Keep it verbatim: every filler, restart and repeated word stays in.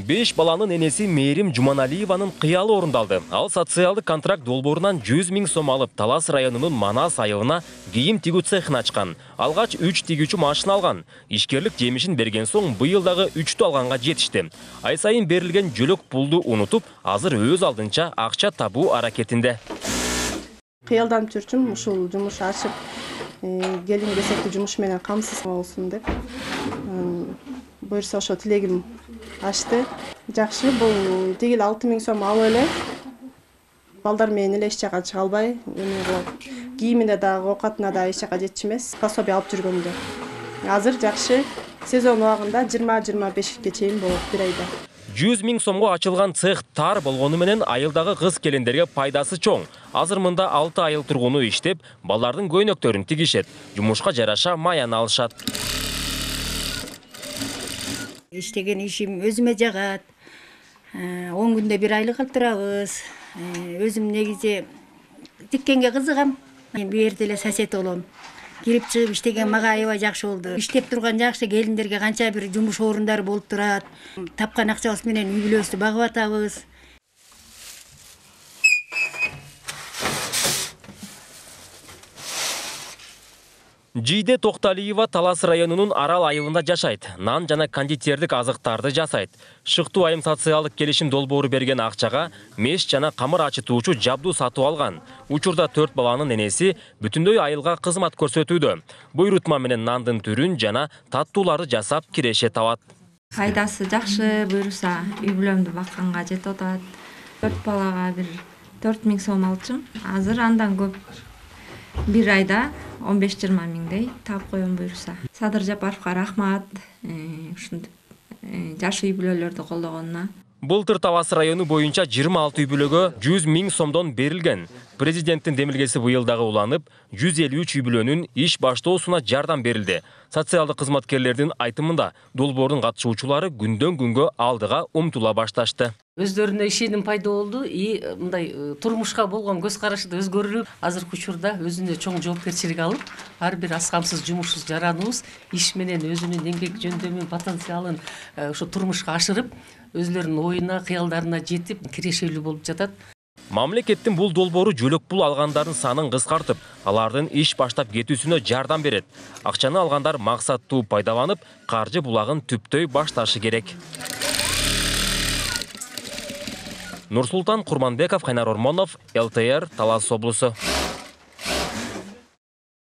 беш баланын энеси Мээрим Жуманалиеванын кыялы орундалды. Ал социалдык контракт долбоорунан жүз миң сом алып, Талас районунун Манас айылына кийим тигүү цехин ачкан. Алгач үч тигүүчү машина алган. Ишкерлик жемишин берген соң быйыл дагы үчтү алганга жетишти. Ай сайын берилген жөлөк пулду унутуп, азыр өз алдынча акча табуу аракетинде. Кыялданып жүрчүм, ушул жумуш ачып, келин кесептүү жумуш менен камсыз болсун деп. Буюрса ошо тилегим ачты. Жакшы, бул тигил алты миң сом алып эле балдар менен эле эч жака чыга албай, кийимине дагы, оокатына дагы эч жака жетчү эмес, пособие алып жүргөмдө. Азыр жакшы, сезон убагында жыйырма жыйырма бешке чейин болот бир айда. жүз миң сомго ачылган цех тар болгону менен айылдагы кыз келиндерге пайдасы чоң. Азыр мында алты айыл тургуну иштеп, балдардын көйнөктөрүн тигишет. Жумушка жараша маяны алышат. Иштеген ишим өзүмө жагат. он күндө бир айлык алып турабыз. Өзүм негизи тиккенге кызыгам. Мен бу жерде эле сосед болом. Кирип чыгып иштеген мага аябай жакшы болду. Иштеп турган жакшы келиндерге канча бир жумуш орундары болуп турат. Тапкан акчабыз менен үй бүлөбүздү багып атабыз. Жийде Токталиева Талас районунун Арал айылында жашайт. Нан жана кондитердик азыктарды жасайт. Шыктуу айым социалдык келишим долбоору берген акчага меш жана камыр ачытуучу жабдуу сатып алган. Учурда төрт баланын энеси бүтүндөй айылга кызмат көрсөтүүдө. Буйрутма менен нандын түрүн жана таттууларды жасап киреше табат. Пайдасы жакшы, буюрса үй бүлөмдү бакканга жетип атат. төрт балага бир төрт миң сом алчым. Азыр андан көп бир айда он беш жыйырма миңдей таап коем буюрса. Садыр Жапаровго рахмат, ушинтип жаш үй бүлөлөрдү колдогонуна. Былтыр Талас району боюнча жыйырма алты үй бүлөгө жүз миң сомдон берилген. Президенттин демилгеси быйыл дагы уланып, жүз элүү үч үй бүлөнүн иш баштоосуна жардам берилди. Социалдык кызматкерлердин айтымында долбоордун катышуучулары күндөн күнгө алдыга умтула башташты. Өздөрүнө ишеним пайда болду и мындай турмушка болгон көз карашы да өзгөрүп, азыркы учурда өзүнө чоң жоопкерчилик алып, ар бир аз камсыз жумушсуз жараныбыз иш менен өзүнүн эмгек жөндөмүн, потенциалын ошо турмушка ашырып, өзлөрүнүн оюна, кыялдарына жетип, кирешелүү болуп жатат. Мамлекеттин бул долбоору жөлөк пул алгандардын санын кыскартып, алардын иш баштап кетүүсүнө жардам берет. Акчаны алгандар максаттуу пайдаланып, каржы булагын түптөй башташы керек. Нурсултан Курманбеков, Кайнар Ормонов, эл тэ эр, Талас облусу.